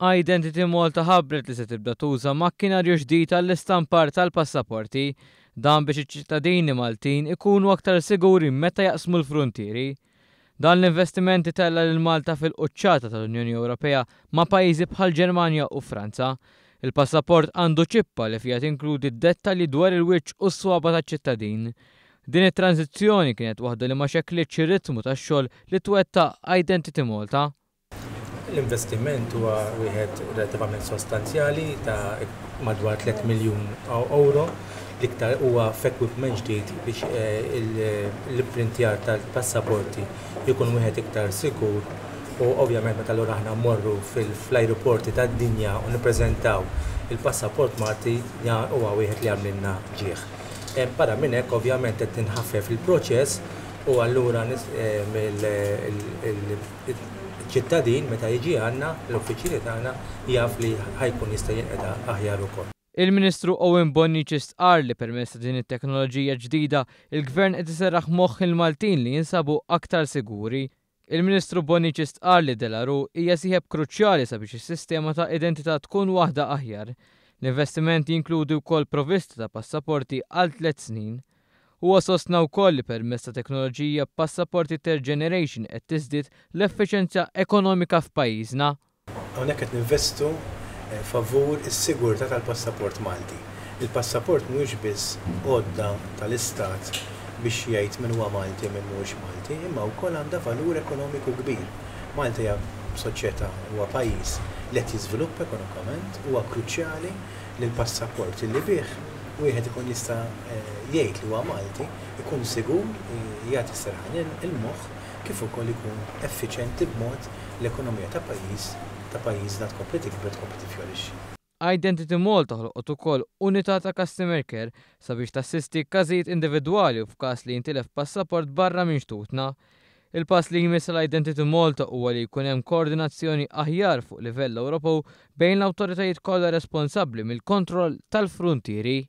Identity Malta ħabbret li se tibda tuża makkinarju ġdid għall-istampar tal-passaporti. Dan biex iċ-ċittadini Maltin ikunu aktar siguri meta jaqsmu l-fruntieri. Dan l-investiment itella' lil Malta fil-quċċata tal-Unjoni Ewropea ma' pajjiżi bħall-Ġermanja u Franza. Il-passaport għandu ċippa li fiha tinkludi dettalji dwar il-wiċċ u s-swaba' taċ-ċittadin. Din it-tranżizzjoni kienet waħda li ma xekklitx ir-ritmu tax-xogħol li twettaq Identity Malta. L-investiment huwa wieħed relattivament sostanzjali ta' madwar 3 miljun ewro, l-iktar huwa f'equipment ġdid biex l-ipprintjar tal-passaporti jkun wieħed iktar sikur u ovvjament meta allura aħna mmorru fl-ajruporti tad-dinja u nippreżentaw il-passaport Malti huwa wieħed li jagħmlilna ġieħ. Barra minn hekk ovvjament qed tinħaffef il-proċess u allura Iċ-ċittadin meta jiġi għandna, l-uffiċjali tagħna, jaf li ħa jkun jista' jinqeda aħjar ukoll. Il-Ministru Owen Bonnici stqarr li permezz ta' din it-teknoloġija ġdida, il-Gvern qed iserraħ moħħ il-Maltin li jinsabu aktar siguri. Il-Ministru Bonnici stqarr li De La Rue hija sieħeb kruċjali sabiex is-sistema ta' identità tkun waħda aħjar. L-investiment jinkludi wkoll provvista ta' passaporti għal tlett snin. Huwa sostna wkoll li permezz ta' teknoloġija b'passaporti third generation qed tiżdied l-effiċenza ekonomika f'pajjiżna. Hawnhekk qed ninvestu favur is-sigurtà tal-passaport Malti. Il-passaport mhuwiex biss għodda tal-Istat biex jgħid min huwa Malti u min mhuwiex Malti, imma wkoll għandha valur ekonomiku kbir. Malta hija soċjetà, huwa pajjiż li qed jiżviluppa ekonomikament, huwa kruċjali li l-passaport li bih wieħed ikun jista' jgħid li huwa Malti, ikun sigur, jagħti serħan il-moħħ kif ukoll ikun effiċjenti b'mod li l-ekonomija ta' pajjiż ta' pajjiżna tkompli tikber, tkompli tiffjorixxi. Identity Malta ħolqot ukoll unità ta' customer care sabiex tassisti każijiet individwali u f'każ li jintilef passaport barra minn xtutna. Il-pass li jmiss għal Identity Malta huwa li jkun hemm koordinazzjoni aħjar fuq livell Ewropew bejn l-awtoritajiet kollha responsabbli mill-kontroll tal-fruntieri.